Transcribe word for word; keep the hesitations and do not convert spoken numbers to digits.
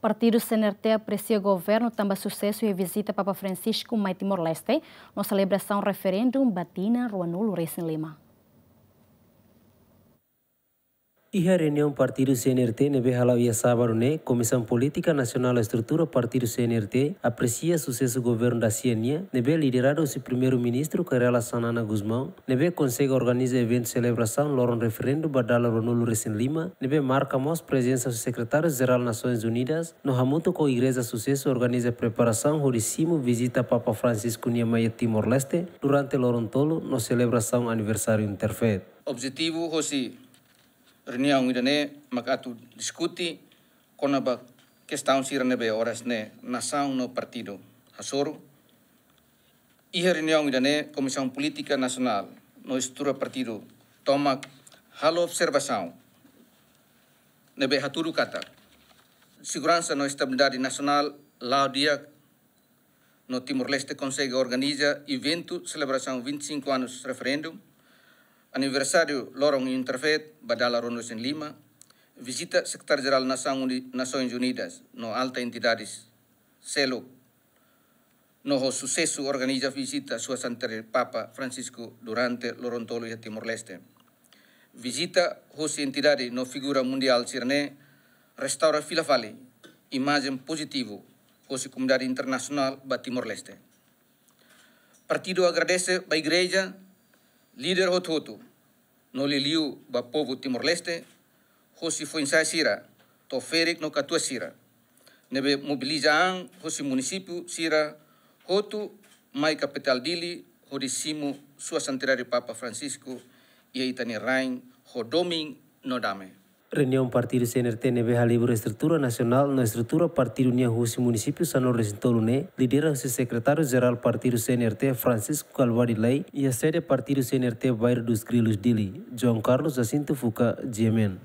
Partidu C N R T apresia governu tanba susesu iha vizita Papa Francisco mai Timor-Leste no selebrasaun referendu ba tinan ruanulu resin lima. Iha reuniaun partidu C N R T ne'ebé hala'o iha sábadu ne'e, Komisaun Polítika Nasionál Estrutura Partidu C N R T apresia susesu governu da sia nian, ne'ebé lideradu husi Primeiru-Ministru Kay Rala Xanana Gusmão, ne'ebé konsege organiza eventu selebrasaun loron referendu ba dala ruanulu resin lima, ne'ebé marka mós prezensa husi Sekretáriu Jerál Nasoins Unidas, no hamutuk ho Igreja Susesu organiza preparasaun hodi simu vizita Papa Francisco nian mai iha Timor-Leste durante loron tolu no selebrasaun aniversáriu Interfaith. Objetivu hosi reuniaun ida-ne'e mak atu diskute kona-ba kestaun sira ne'ebé oras ne'e nasaun no partidu hasoru. Iha reuniaun ida-ne'e Komisaun Polítika Nasionál no Estrutura Partidu tomak halo observasaun ne'ebé hatudu katak seguransa no estabilidade nasionál la'o di'ak no Timor-Leste konsege organiza eventu selebrasaun vinte e cinco anos referendu, aniversáriu loron Interfaith ba dala ruanulu resin lima, vizita Sekretáriu Jerál Nasaun Uni-, Nasoins Unidas no alta entidades seluk, no ho susesu organiza vizita Sua Santidade Papa Francisco durante loron tolu iha Timor-Leste. Vizita hosi entidade no figura mundiál sira-ne'e restaura fila fali imajen pozitivu hosi komunidade internasionál ba Timor-Leste. Partidu agradese ba Igreja, líder hotu-hotu, no liuliu ba povu Timor-Leste, hosi foin-sa'e sira, to'o ferik no katuas sira, ne'ebé mobiliza an hosi munisípiu sira hotu mai kapitál Dili hodi simu Sua Santidade Papa Francisco iha ita-nia rain ho domin no dame. Reuniaun partidu C N R T ne'ebé halibur estrutura nasionál no estrutura partidu nian husi munisípiu sanulu resin tolu ne'e lidera husi Sekretáriu Jerál Partidu C N R T Francisco Calvadi Lay iha sede partidu C N R T Bairro dos Grilos Dili. João Carlos Jacinto Fuca, G M N.